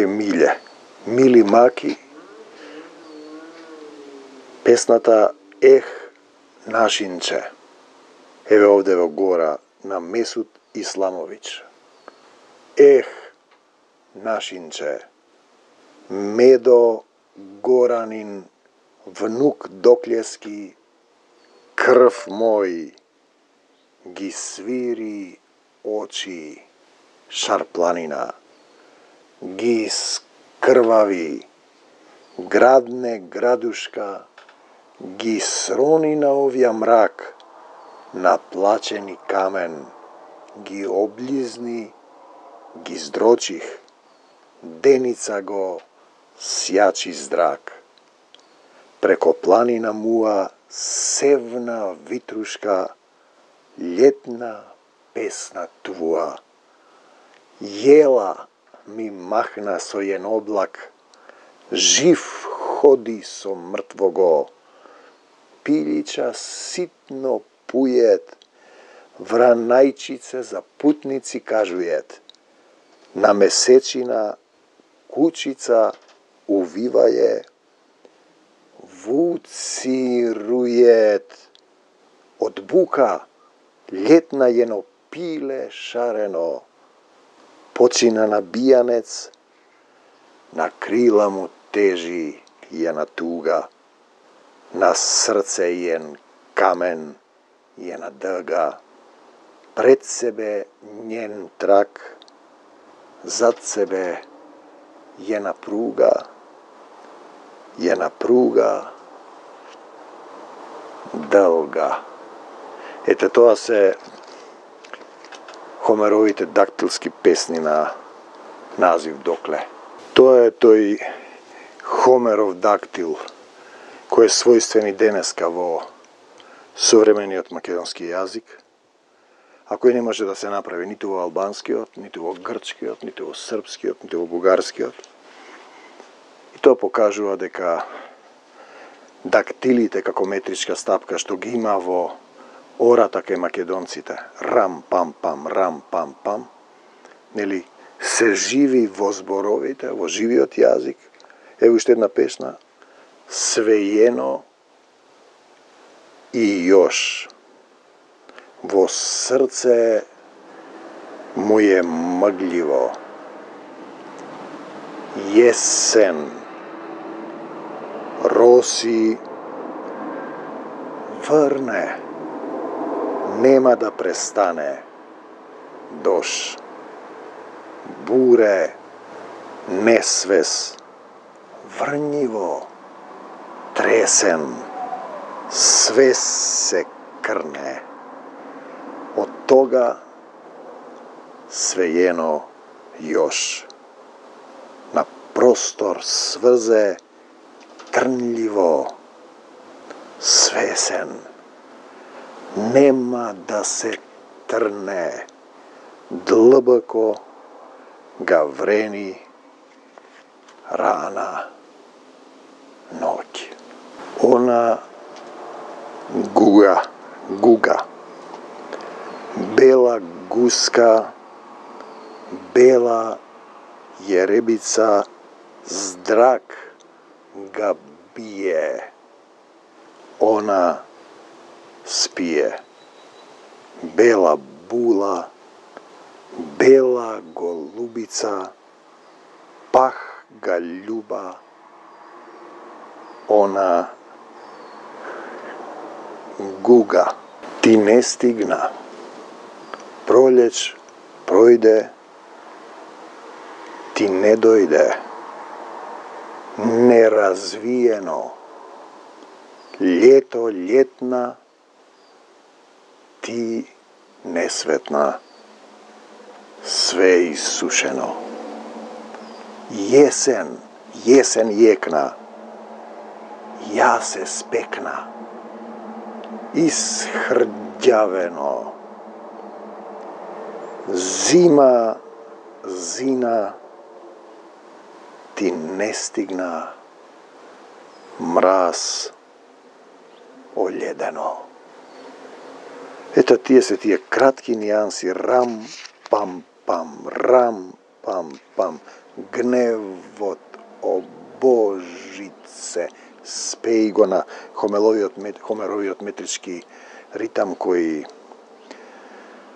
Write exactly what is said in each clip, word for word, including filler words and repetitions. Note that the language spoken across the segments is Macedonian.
ке миле, мили маки, песната Ех, нашинче. Еве овде во гора на Месут Исламович. Ех, нашинче, Медо Горанин, внук Доклески, крв мој, ги свири очи Шарпланина, ги скрвави, градне градушка, ги срони на овија мрак, на плачени камен, ги облизни, ги здрочих, деница го сјачи здрак. Преко планина муа севна витрушка, летна песна твуа. Јела ми махна со јен облак, жив ходи со мртвого, пилича ситно пујет, вранајчице за путници кажујет, на месечина кучица увиваје, вуцирујет, од бука летна јено пиле шарено, почина на бијанец, на крила му тежи јена туга, на срце јен камен, јена дъга, пред себе njен трак, зад себе јена пруга, јена пруга дълга. Ете, тоа се Хомеровите дактилски песни на назив Докле. Тоа е тој Хомеров дактил, кој е својствен и денеска во современиот македонски јазик, а кој не може да се направи ниту во албанскиот, ниту во грчкиот, ниту во српскиот, ниту во бугарскиот. И тоа покажува дека дактилите како метричка стапка што ги има во ората кај македонците, рам пам пам, рам пам пам, нели, се живи во зборовите, во живиот јазик. Ево уште една песна, свејено и још. Во срце му е мъгливо. Јесен, роси, врне, нема да престане. Дош, буре, несвес, врњиво, тресен, све се крне. Од тога свејено још. На простор сврзе трнливо, свесен, нема да се трне, длбоко га врени рана ноќ. Она гуга, гуга, бела гуска, бела јеребица, здрак га бие, она спие. Бела була, бела голубица, пах га љуба, она гуга. Ти не стигна, пролеќ пројде, ти не дојде, неразвиено, лето летна, ти несветна, све исушено. Јесен, јесен јекна, ја се спекна, исхрđавено, зима, зина, ти не стигна, мраз оледено. Ето тие се тие кратки нијанси, рам, пам, пам, рам, пам, пам, гневот о Божице, спеи го на Хомеровиот, Хомеровиот метрички ритам кој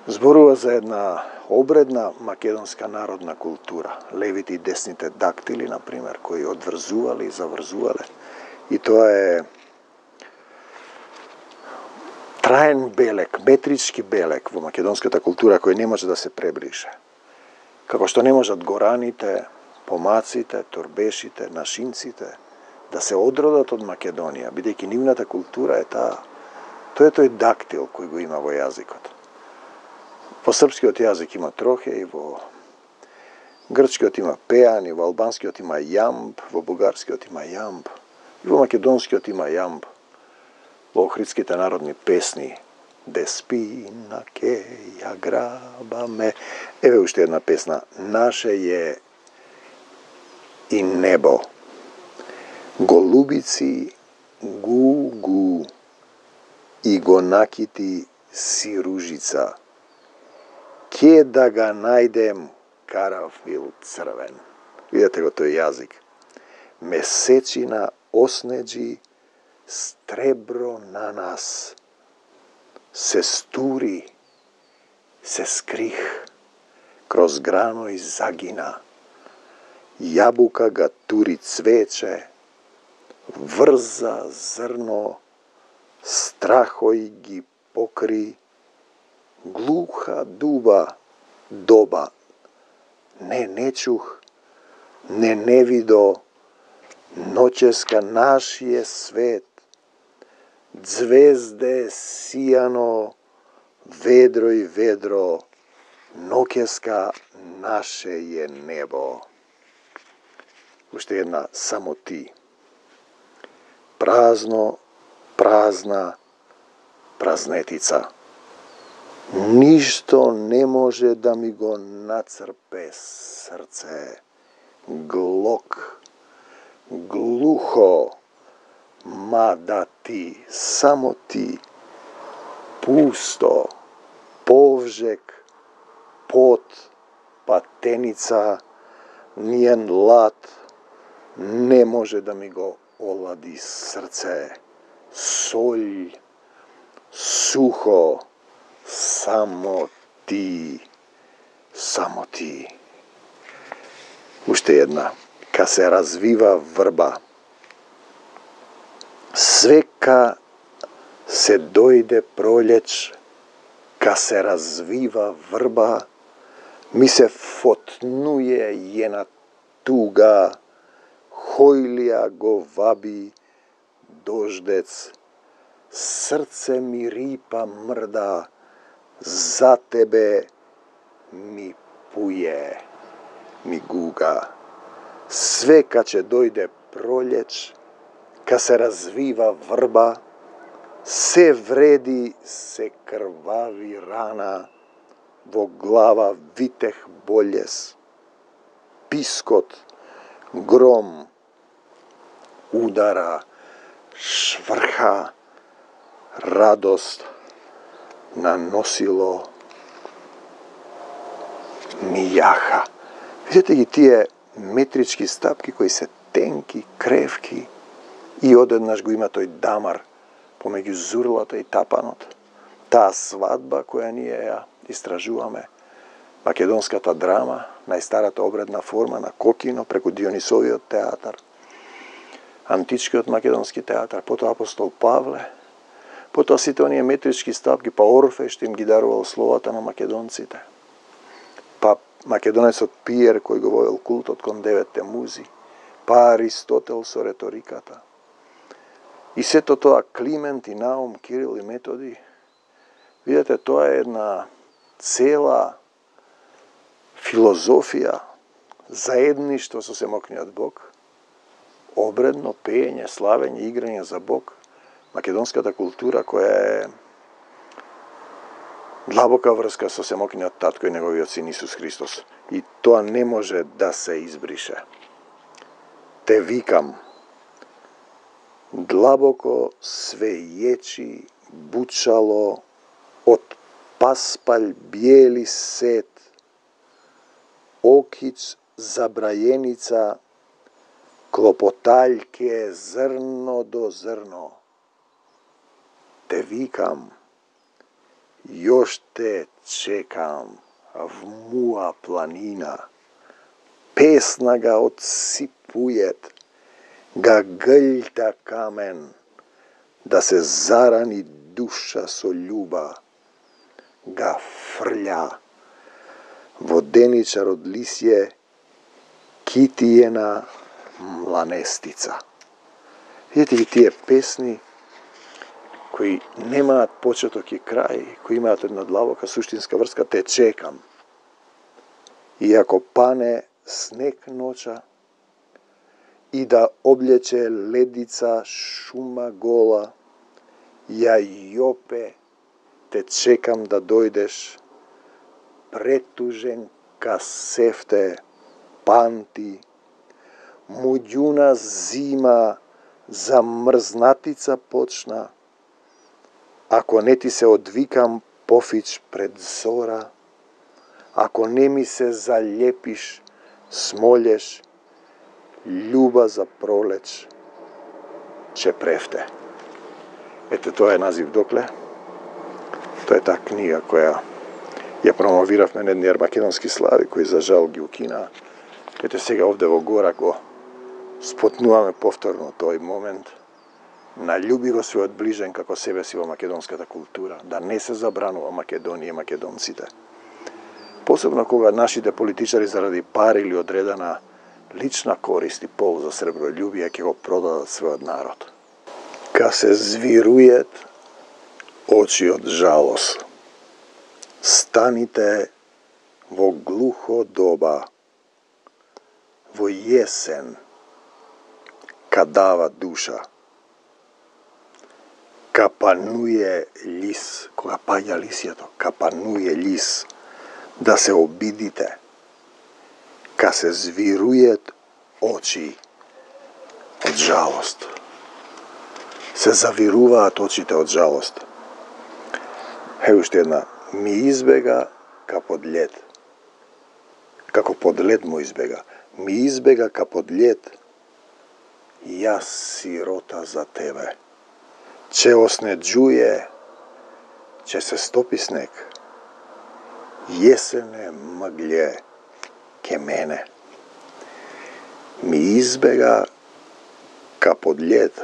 зборува за една обредна македонска народна култура. Левите и десните дактили, например, кои одврзувале и заврзувале. И тоа е траен белег, метрички белег во македонската култура кој не може да се пребрише. Како што не можат гораните, помаците, торбешите, нашинците да се одродат од Македонија, бидејќи нивната култура е таа. Тоа е тој дактил кој го има во јазикот. Во српскиот јазик има трохеј, во грчкиот има пеан, и во албанскиот има јамб, во бугарскиот има јамб, и во македонскиот има јамб. Во охридските народни песни Деспина ке ја грабаме. Еве уште една песна. Наше е и небо. Голубици гу-гу и го накити си ружица. Ке да га најдем карафил црвен. Видете го тој јазик. Месечина оснеđи стребро на нас. Се стури, се скрих, кроз грано и загина. Јабука га тури цвече, врза зрно, страхој ги покри, глуха дуба, доба. Не, не чух, не, не видо, ноќеска нашије свет, звезде сијано, ведро и ведро, ноќеска наше е небо. Уште една, само ти. Празно, празна, празнетица. Ништо не може да ми го нацрпе срце. Глок, глухо, мада ти, само ти. Пусто, повжек, пот, патеница, ниен лад не може да ми го олади срце. Солј, сухо, само ти, само ти. Уште една. Ка се развива врба. Свека се дојде пролеќ, ка се развива врба, ми се фотнуе јена туга, хојлија го ваби дождец, срце ми рипа мрда, за тебе ми пуе, ми гуга. Свека ќе дојде пролеќ, ка се развива врба, се вреди, се крвави рана, во глава витех болез, пискот, гром, удара, шврха, радост, наносило ми јаха. Видете ги тие метрички стапки кои се тенки, кревки и одеднаш го има тој дамар помеѓу зурлата и тапанот. Таа свадба која ние ја истражуваме, македонската драма, најстарата обредна форма на Кокино преку Дионисовиот театар, античкиот македонски театар, потоа апостол Павле, потоа сите оние метрички стапки, па Орфеј што им ги дарувал словата на македонците, па македонецот Пиер кој го водел култот кон деветте музи, па Аристотел со реториката. И сето тоа Климент и Наум, Кирил и Методи. Видете, тоа е една цела филозофија, заедништво со семокниот Бог, обредно пеење, славење, играње за Бог, македонската култура која е длабока врска со семокниот татко и неговиот син Исус Христос. И тоа не може да се избрише. Те викам, длабоко свејечи бучало од паспалј биели сет, окиц забрајеница, клопотаљке зрно до зрно. Те викам, још те чекам, в муа планина. Песна га отсипујет, га гълта камен, да се зарани душа со љуба, га фрља воденичар од лисје, китиена мланестица. Видите ги тие песни кои немаат почеток и крај, кои имаат една длабока суштинска врска, те чекам. Иако пане снег ноќа и да облече ледица шума гола, ја јопе, те чекам да дојдеш, претужен ка сефте, панти, муѓуна зима, замрзнатица почна, ако не ти се одвикам пофич пред зора, ако не ми се залепиш, смолеш, љуба за пролеч, че префте. Ете, тоа е назив докле. Тоа е таа книга која ја промовиравме на едни македонски слави, кои за жал ги укинаа. Ете сега овде во гора го спотнуваме повторно тој момент. Налюби го својот ближен како себе си во македонската култура, да не се забранува Македонија и македонците. Посебно кога нашите политичари заради пари или одредена лична корист и полза сребролюбие ќе го продадат својот народ. Ка се звирујет очи од жалост, станите во глухо доба, во јесен, кадава душа, капануе лис, кога паѓа лисјето, капануе лис, да се обидите, ка се звирујет очи од жалост. Се завируваат очите од жалост. Е, уште една. Ми избега ка под лед. Како под лед му избега. Ми избега ка под лед. Јас сирота за тебе. Че оснеđuje, че се стопи снег. Јесене мъгле ке мене. Ми избега ка под лед.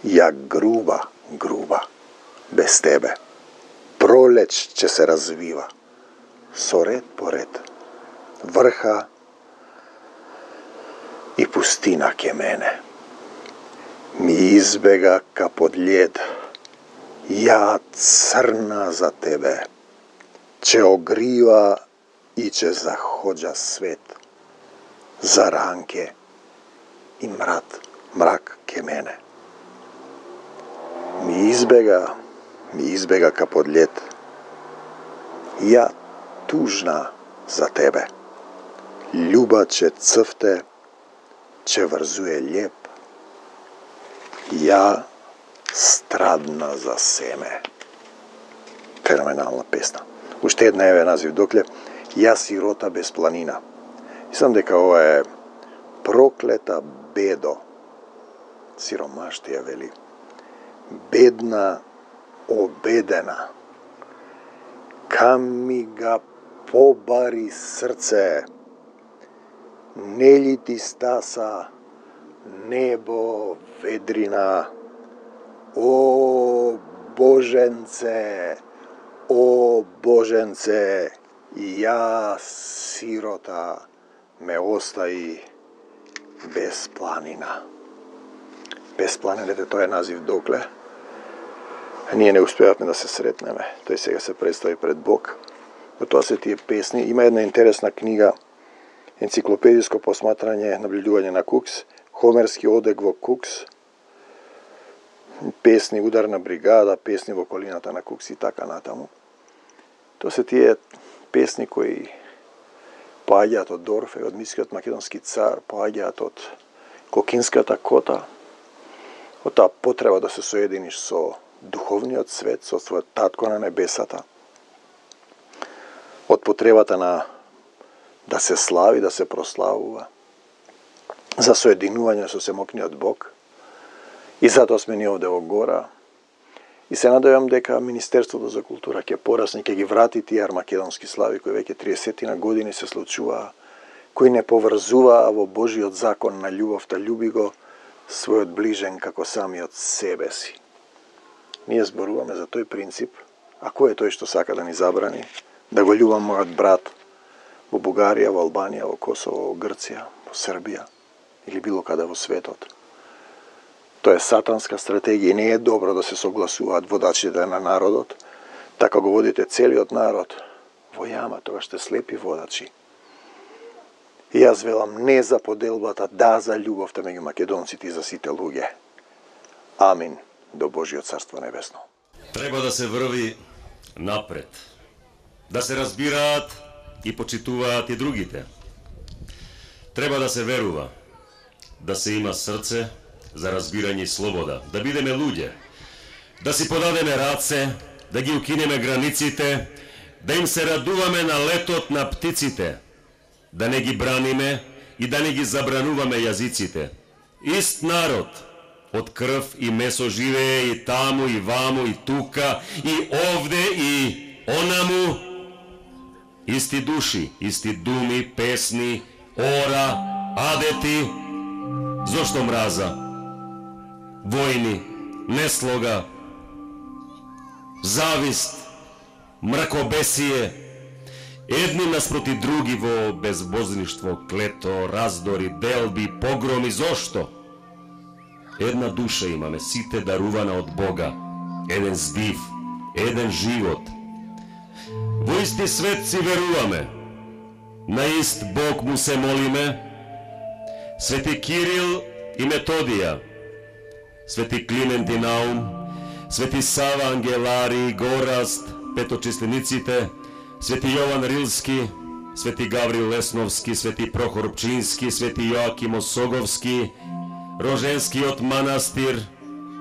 Ја груба, груба, без тебе. Пролеч ќе се развива, со ред по ред, врха и пустина ке мене. Ми избега ка под лед, ја црна за тебе, че огрива и че заходжа свет, за ранке и мрат, мрак ке мене. Ми избега, ми избега ка под лед, ја тужна за тебе. Љуба че цвте, че врзуе леп, ја страдна за семе. Феноменална песна. Уште една еве назив докле, Ја сирота без планина. Мислам дека ова е проклета бедо, сиромаштија вели, бедна, обедена, кам ми га побари срце, нели ти стаса, небо, ведрина, о Боженце, о Боженце, ја сирота ме остаи без планина. Без планината, тој е назив докле. Ние не успеавме да се сретнеме. Тој сега се представи пред Бог. Но тоа се тие песни. Има една интересна книга, енциклопедиско посматрање, наблюдување на Кукс, Хомерски одек во Кукс, песни Ударна бригада, песни во околината на Кукс и така натаму. Тоа се тие песни кои поаѓаат од Орфеј, од митскиот македонски цар, поаѓаат од Кокинската кота, од таа потреба да се соединиш со духовниот свет, со својот татко на небесата, од потребата на да се слави, да се прославува, за соединување со семокниот Бог. И затоа сме ние овде во гора. И се надевам дека Министерството за култура ќе порасне, ќе ги врати тие армакедонски слави кои веќе триесет години се случуваа, кои не поврзуваа во Божиот закон на љубовта, љуби го својот ближен како самиот себе си. Ние зборуваме за тој принцип, а кој е тој што сака да ни забрани да го љубам мојот брат во Бугарија, во Албанија, во Косово, во Грција, во Србија или било каде во светот? Тоа е сатанска стратегија и не е добро да се согласуваат водачите на народот, така го водите целиот народ во јама, тогаш сте слепи водачи. И јас велам не за поделбата, да за љубовта меѓу македонците и за сите луѓе. Амин до Божиот царство небесно. Треба да се врви напред, да се разбираат и почитуваат и другите. Треба да се верува, да се има срце за разбирање и слобода, да бидеме луѓе, да си подадеме раце, да ги укинеме границите, да им се радуваме на летот на птиците, да не ги браниме и да не ги забрануваме јазиците. Ист народ, од крв и месо живее и таму, и ваму, и тука, и овде, и онаму. Исти души, исти думи, песни, ора, адети. Зошто мраза? Војни, неслога, завист, мракобесие, едни наспроти други во безбожништво, клето, раздори, делби, погроми. Зошто? Една душа имаме, сите дарувана од Бога, еден здив, еден живот. Во исти свет си веруваме, на ист Бог му се молиме. Свети Кирил и Методија, Свети Климент и Наум, Свети Сава Ангелари, Гораст, петочислениците, Свети Јован Рилски, Свети Гаврил Лесновски, Свети Прохор Пчински, Свети Јоаким Осоговски, Роженскиот манастир,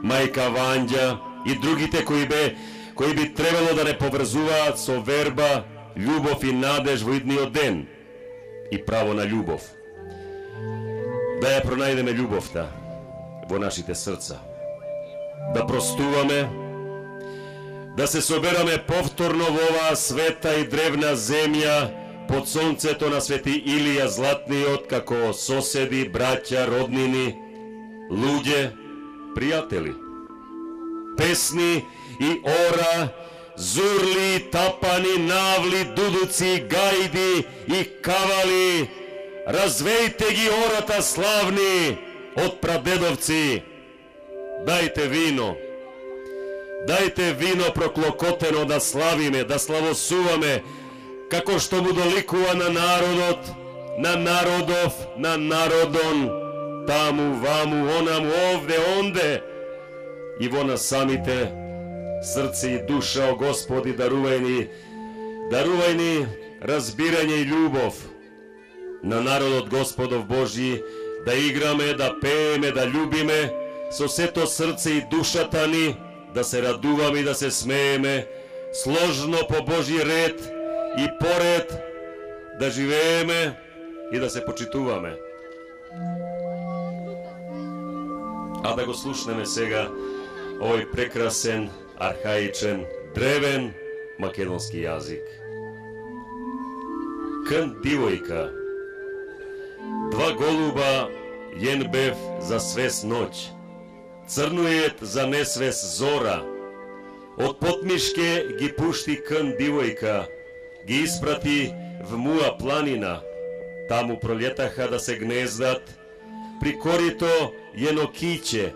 Мајка Ванѓа и другите кои бе кои би требало да не поврзуваат со верба, љубов и надеж во идниот ден и право на љубов. Да ја пронајдеме љубовта во нашите срца, да простуваме, да се собераме повторно во оваа света и древна земја под сонцето на Свети Илија Златниот, како соседи, браќа, роднини, луѓе, пријатели. Песни и ора, зурли, тапани, навли, дудуци, гајди и кавали, развејте ги ората славни од прадедовци. Дајте вино, дајте вино проклокотено да славиме, да славосуваме, како што му доликува на народот, на народов, на народон, таму, ваму, онаму, овде, онде, и во нас самите, срце и душа, о Господи, дарувај ни, дарувај ни разбирање и љубов на народот Господов Божји, да играме, да пееме, да љубиме со сето срце и душата ни, да се радуваме и да се смееме, сложно по Божји ред и поред, да живееме и да се почитуваме. А да го слушнеме сега овој прекрасен, архаичен, древен македонски јазик. Кн дивојка, два голуба јен бев за свес ноќ, црнует за несвес зора, од потмишке ги пушти кн дивојка, ги испрати в Муа планина, таму пролетаха да се гнездат, при корито јено киќе,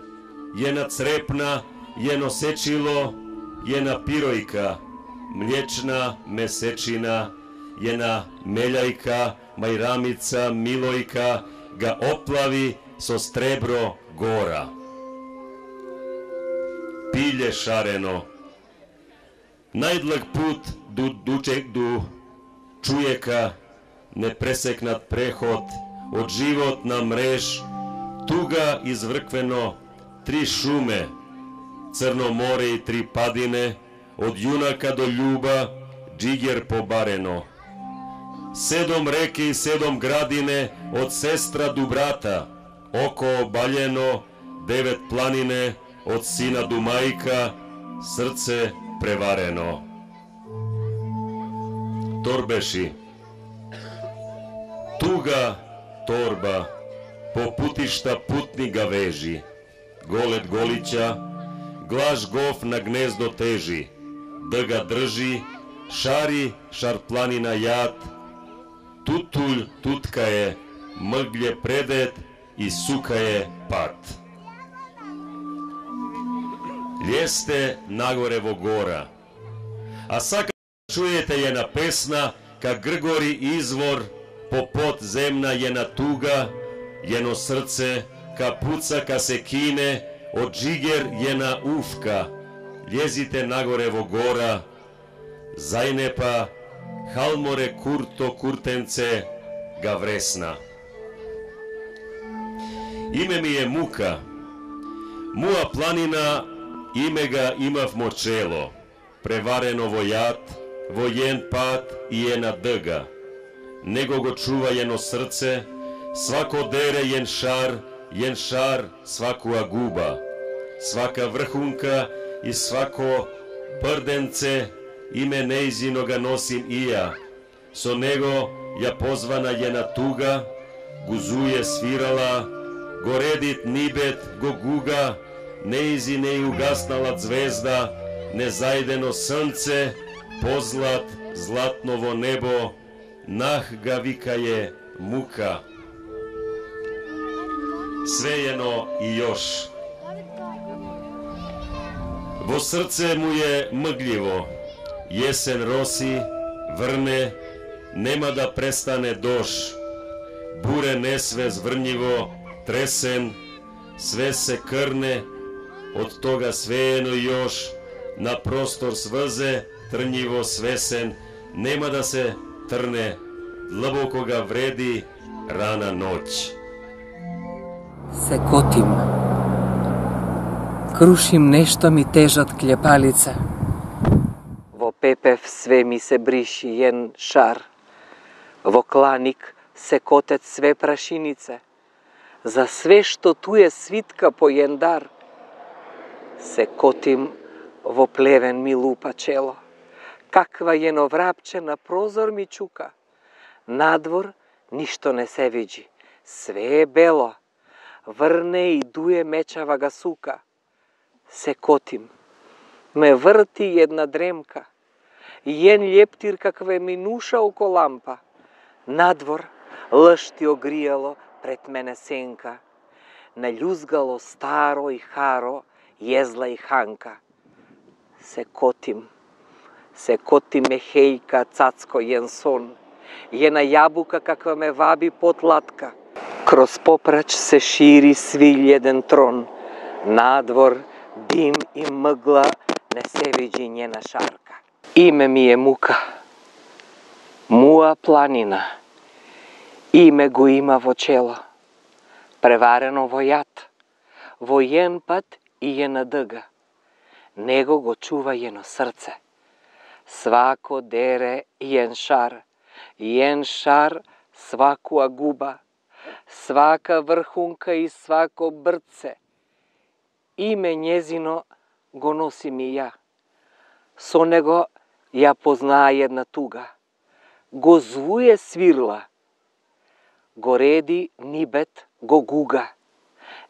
јена црепна, јено сечило, јена пиројка, млечна месечина, јена мелјајка, мајрамица, милојка, га оплави со стребро гора. Пиле шарено, најдлаг пут ду дучек ду чујека, непресекнат преход, од живот на мреж, туга изврквено, три шуме, Црно море и три падине, од јунака до љуба, джигер побарено. седом реке и седом градине од сестра до брата, око обаljeno, девет планине од сина до мајка, срце преварено. Торбеши. Туга торба, по путишта путни га вежи, голет голиќа, глаш гов на гнездо тежи, дъга држи, шари шарпланина јад, тутуль тутка е, мъгле предет и сука е пат. Лјесте нагоре во гора, а сака чуете јена песна, ка Гргори извор, по под земна јена туга, јено срце, ка пуца, ка се кине, од джигер јена уфка, лјезите нагоре во гора, зајнепа, халморе курто куртенце, га вресна. Име ми е Мука, муа планина, име га имав мочело, преварено во јад, во јен пат и една дъга. Него го чува јено срце, свако дере јен шар, јен шар свакуа губа, свака врхунка и свако прденце, име неизино га носим и ја. Со него ја позвана јена туга, гузуе свирала, го редит нибет го гуга, неизи не угаснала звезда, незајдено срнце, позлат златно во небо, нах га викае Мука. Свејено и још. Во срце му е мъгливо, јесен роси, врне, нема да престане дош. Буре несвес врњиво, тресен, све се крне, од тога свеено и још, на простор сврзе, трњиво свесен, нема да се трне, длабоко га вреди рана ноќ. Се котим, крушим нешто ми тежат клепалица. Во пепев све ми се бриши јен шар, во кланик се котет све прашинице, за све што ту е свитка по јен дар. Се котим, во плевен ми лупа чело, каква јено врапче на прозор ми чука. Надвор ништо не се види, све е бело, врне и дуе мечава га сука. Се котим, ме врти една дремка, јен лептир каква ми нуша око лампа. Надвор лъшти огријало пред мене сенка, налюзгало старо и харо, језла и ханка. Се котим, се коти ме хејка цацко јен сон, јена јабука каква ме ваби потлатка. Кроз попрач се шири свилј еден трон, надвор дим и мъгла, не се види njena шарка. Име ми е Мука, муа планина, име го има во чело, преварено во јад, во јен пат и јена дъга. Него го чува јено срце, свако дере јен шар, јен шар свакуа губа, свака врхунка и свако брце. Име njezino го носим и ја. Со него ја познаа една туга. Го звуе свирла. Го реди нибет го гуга.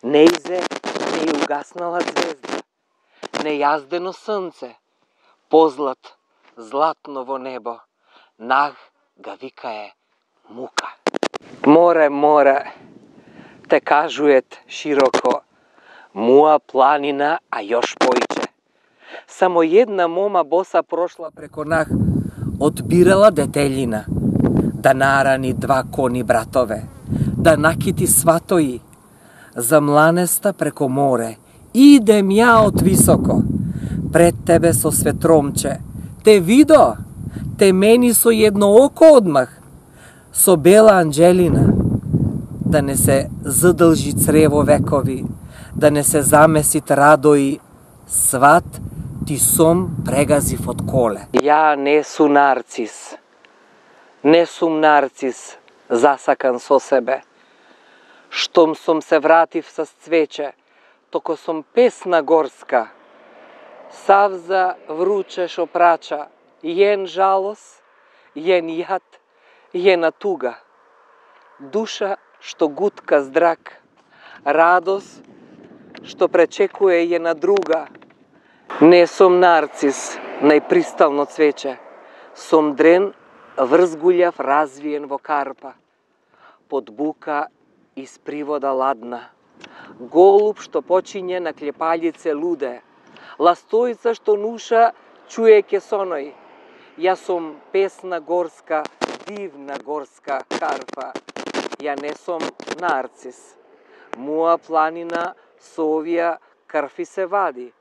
Неизе не угаснала звезда. Нејаздено срнце. Позлат златно во небо. Нах га викае Мука. Море, море, те кажует широко, муа планина, а још поиќе. Само една мома боса прошла преко нах, одбирала детелина, да нарани два кони братове, да накити сватои, за мланеста преко море, идем ја од високо, пред тебе со светромче, те видо, те мени со едно око одмах, со бела анđелина, да не се задължи црево векови, да не се замесит радои, сват ти сом прегазив од коле. Ја не су нарцис, Не сум нарцис, засакан со себе. Штом сум се вратив со цвеќе, токо сум песна горска. Савза вруче шо прача, јен жалос, јен јад, јена туга. Душа што гутка здрак, радост што пречекуе јена друга. Не сум нарцис, најпристално цвеќе, сум дрен врзгулјав развиен во карпа. Под бука из привода ладна, голуб што почиње на клепалјице луде, ластојца што нуша чуеќе соној. Јас сум песна горска, дивна горска карпа. Ја не сум нарцис. Моја планина со овија крви се вади.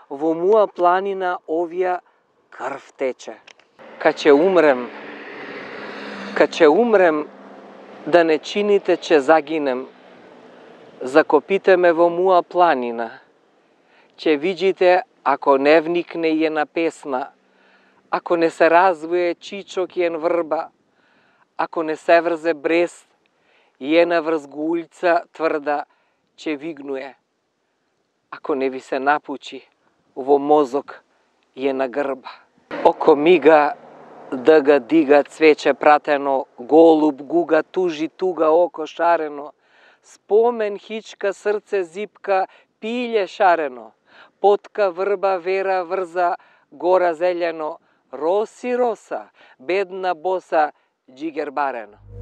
Во моја планина овија крв тече. Ка ќе умрем, ка ќе умрем, да не чините че загинем. Закопите ме во моја планина. Ќе видите ако не вникне јена песна, ако не се развие чичок јен врба, ако не се врзе брест, јена врзгулјца тврда ќе вигнуе, ако не ви се напучи во мозок јена грба. Око мига, дга дига цвеќе пратено, голуб гуга тужи туга око шарено, спомен хичка срце зипка, пилје шарено, потка врба вера врза, гора зелено, роси роса, бедна боса, джигер барено.